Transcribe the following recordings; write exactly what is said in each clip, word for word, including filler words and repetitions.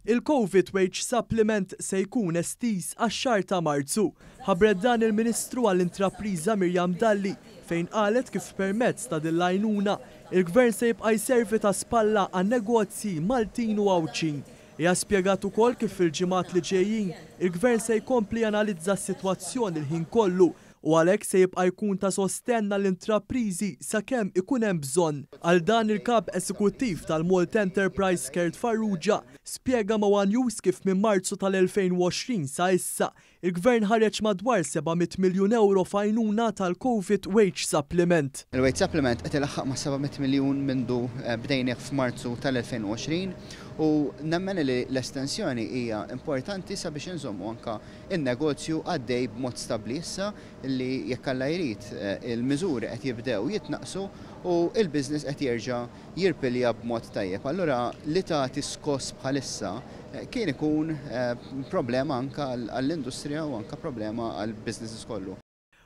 Il-Covid Wage Supplement se jkun estiż għax-xahar ta' Marzu. Ħabbret dan il-Ministru għall-Intrapriża Miriam Dalli, fejn qalet kif permezz ta' din l-għajnuna il-Gvern se jibqa' jservi ta' spalla għan-negozji Maltin u Għawdxin. Hija spjegat ukoll kif fil-ġimgħat li ġejjin il-Gvern se jkompli janalizza s-sitwazzjoni l-ħin kollu u għalhekk se jibqa' jkun ta' sostenn għall-intrapriżi sakemm ikun hemm bżonn. Għal dan, il-kap eżekuttiv tal-Malta Enterprise Kurt Farrugia spjega ma' One News kif minn Marzu tal-elfejn u għoxrin sa issa il-Gvern ħareġ madwar seba' mitt miljun euro f'għajnuna tal-Covid Wage Supplement. Il-Wage Supplement qed ilaħħaq ma' seba' mitt miljun mindu eh, bdejnieh f'Marzu tal-elfejn u għoxrin u nemmen li l-estensjoni hija importanti sabiex inżommu anka in-negozju għaddej b'mod stabbli issa li, jekk Alla jrid, eh, il-miżuri qed jibdew jitnaqsu u il-business qed jerġa' jirpilja b'mod tajjeb. Allura li tagħti skoss bħalissa eh, kien ikun eh, problema anka għall-industrija u anka problema għall-businesses kollu.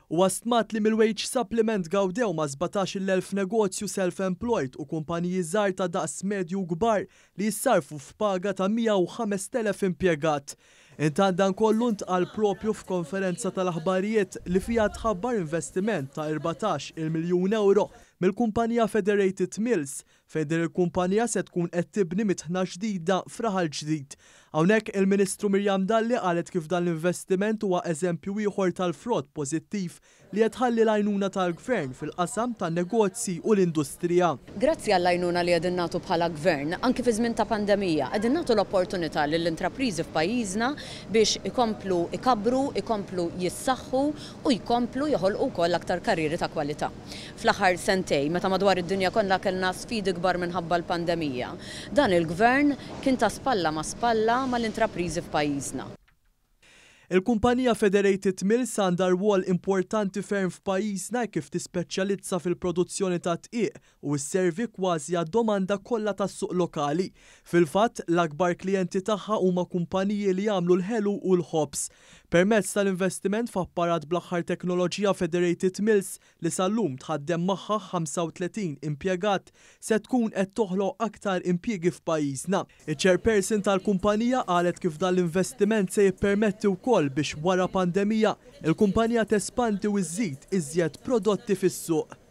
U stmat li mill-wage supplement gawdew ma' sbatax-il elf negozju self-employed u kumpaniji żgħar ta' daqs medju kbar li jissarfu f'paga ta' mija u ħamest elef impjegat. Intant, dan kollu ntqal propju f'konferenza tal-aħbarijiet li fiha tħabbar investiment ta' erbatax-il miljun euro mill-kumpanija Federated Mills, fejn din il-kumpanija se tkun qed tibni mitħna ġdida f'Raħal Ġdid. Hawnhekk il-Ministru Miriam Dalli qalet kif dan l-investiment huwa eżempju ieħor tal-frott pożittiv li qed tħalli l-għajnuna tal-Gvern fil-qasam tan-negozji u l-industrija. Grazzi għall-għajnuna li qegħdin nagħtu bħala Gvern, anki fi żmien ta' pandemija, qegħdin nagħtu l-opportunità lill-intrapriżi f'pajjiżna biex ikomplu ikabbru, ikomplu jissaħħu u jkomplu joħolqu wkoll aktar karrieri ta' kwalità. Fl-aħħar sentej, meta madwar id-dinja kollha kellna sfidi kbar minħabba l-pandemija, dan il-Gvern kien ta' spalla ma' spalla mal-intrapriżi f'pajjiżna. Il-kumpanija Federated Mills għandha rwol importanti ferm f'pajjiżna kif tispeċjalizza fil-produzzjoni ta' dqiq u sservi kważi għad-domanda kollha tas-suq lokali. Fil-fatt, l-akbar klijenti tagħha huma kumpaniji li jagħmlu l-ħelu u l-ħobż. Permezz tal-investiment f'apparat bl-aħħar teknoloġija, Federated Mills, li sal-lum tħaddem magħha ħamsa u tletin impjegat, se tkun qed toħloq aktar impjiegi f'pajjiżna. Iċ-chairperson tal-kumpanija qalet kif dan l-investiment se jippermetti wkoll biex wara pandemija il-kumpanija tespandi u żżid iżjed prodotti fis-suq.